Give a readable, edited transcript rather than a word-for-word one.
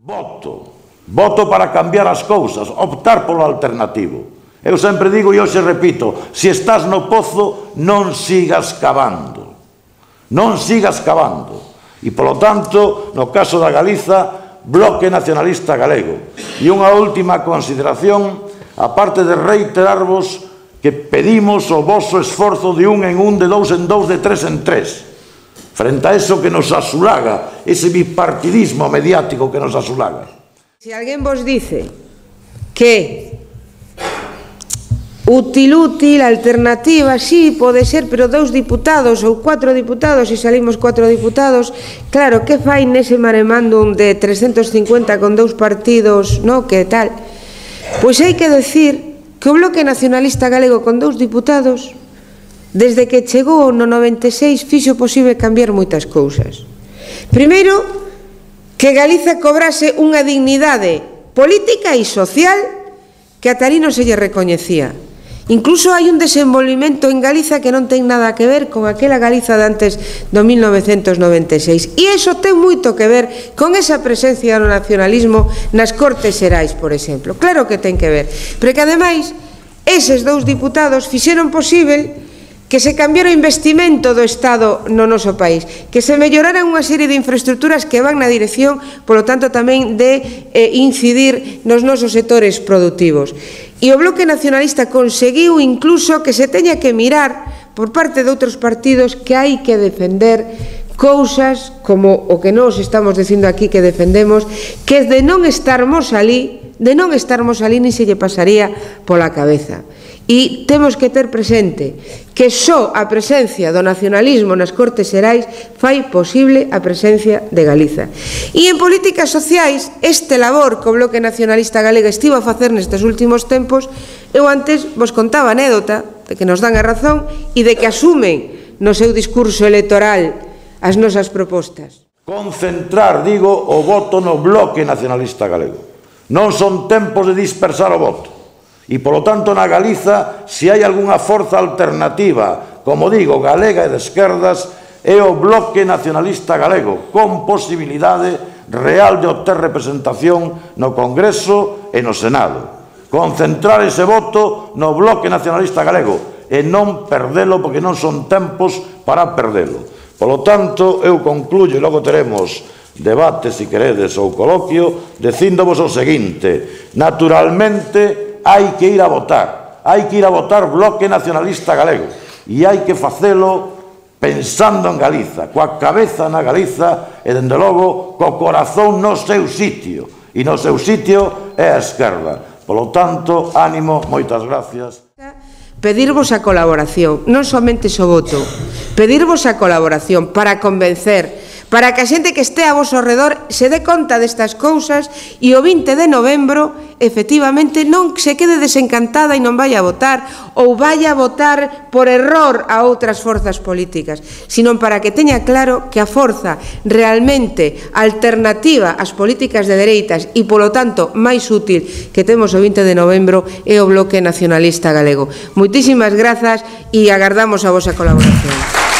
Voto para cambiar as cousas, optar polo alternativo. Eu sempre digo e hoxe repito, se estás no pozo non sigas cavando, non sigas cavando. E polo tanto, no caso da Galiza, Bloque Nacionalista Galego. E unha última consideración, aparte de reiterarvos que pedimos o voso esforzo de un en un, de dous en dous, de tres en tres, frente a eso que nos asulaga, ese bipartidismo mediático que nos asulaga. Si alguén vos dice que útil, alternativa, sí, pode ser, pero 2 diputados ou 4 diputados, e salimos 4 diputados, claro, que fai nese maremándum de 350 con 2 partidos, no, que tal? Pois hai que decir que o Bloque Nacionalista Galego con 2 diputados, desde que chegou no 96, fixo posible cambiar moitas cousas. Primeiro, que Galiza cobrase unha dignidade política e social que ata ali non se lle recoñecía. Incluso hai un desenvolvimento en Galiza que non ten nada que ver con aquela Galiza de antes do 1996. E iso ten moito que ver con esa presencia do nacionalismo nas Cortes Xerais, por exemplo. Claro que ten que ver. Pero que, ademais, eses 2 diputados fixeron posible que se cambiara o investimento do Estado no noso país, que se melloraran unha serie de infraestructuras que van na dirección, polo tanto, tamén de incidir nos nosos sectores productivos. E o Bloque Nacionalista conseguiu incluso que se teña que mirar por parte de outros partidos que hai que defender cousas como o que nós estamos dicindo aquí que defendemos, que de non estarmos ali, nin se lle pasaría pola cabeza. E temos que ter presente que só a presencia do nacionalismo nas Cortes Xerais fai posible a presencia de Galiza. E en políticas sociais, este labor que o Bloque Nacionalista Galego estivo a facer nestes últimos tempos, eu antes vos contaba a anécdota de que nos dan a razón e de que asumen no seu discurso electoral as nosas propostas. Concentrar, digo, o voto no Bloque Nacionalista Galego. Non son tempos de dispersar o voto. E, polo tanto, na Galiza, se hai algunha forza alternativa, como digo, galega e de esquerdas, é o Bloque Nacionalista Galego, con posibilidade real de obter representación no Congreso e no Senado. Concentrar ese voto no Bloque Nacionalista Galego e non perdelo, porque non son tempos para perdelo. Polo tanto, eu concluyo, e logo teremos debate, se queredes, ou coloquio, dicíndovos o seguinte: naturalmente, hai que ir a votar Bloque Nacionalista Galego, e hai que facelo pensando en Galiza, coa cabeza na Galiza e, dende logo, co corazón no seu sitio, e no seu sitio é a esquerda. Polo tanto, ánimo, moitas gracias. Pedirvos a colaboración, non somente o voto, pedirvos a colaboración para convencer, para que a xente que este a vosso redor se dé conta destas cousas e o 20 de novembro, efectivamente, non se quede desencantada e non vai a votar ou vai a votar por error a outras forzas políticas, sino para que teña claro que a forza realmente alternativa ás políticas de dereitas e, polo tanto, máis útil que temos o 20 de novembro é o Bloque Nacionalista Galego. Moitísimas grazas e agardamos a vosa colaboración.